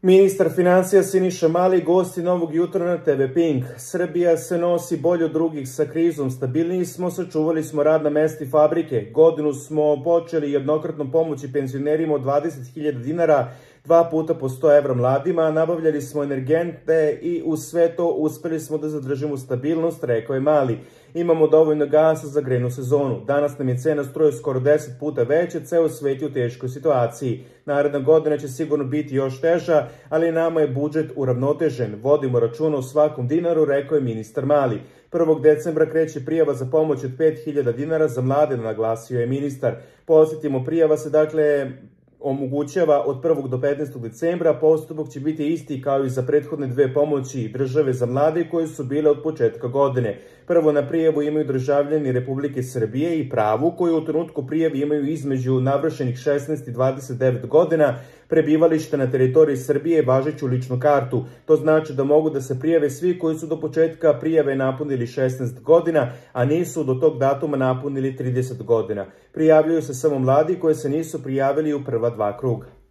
Ministar financija Siniša Mali gosti Novog jutra na TV Pink. Srbija se nosi bolje od drugih sa krizom, stabilniji smo, sačuvali smo radna mesta i fabrike. Godinu smo počeli jednokratnom pomoći penzionerima od 20.000 dinara, 2 puta po 100 evra mladima, nabavljali smo energente i uz sve to uspeli smo da zadržimo stabilnost, rekao je Mali. Imamo dovoljno gasa za grejnu sezonu. Danas nam je cena struje skoro 10 puta veća, ceo svet je u teškoj situaciji. Naredna godina će sigurno biti još teža, ali nama je budžet uravnotežen. Vodimo računa o svakom dinaru, rekao je ministar Mali. 1. decembra kreće prijava za pomoć od 5.000 dinara za mlade, naglasio je ministar. Posjetimo, prijava se omogućava od 1. do 15. decembra, postupak će biti isti kao i za prethodne 2 pomoći države za mlade koje su bile od početka godine. Prvo na prijavu imaju državljani Republike Srbije i pravu koji u trenutku prijave imaju između navršenih 16 i 29 godina, prebivalište na teritoriji Srbije i važeću ličnu kartu. To znači da mogu da se prijave svi koji su do početka prijave napunili 16 godina, a nisu do tog datuma napunili 30 godina. Prijavljuju se samo mladi koji se nisu prijavili u prva 2 kruga.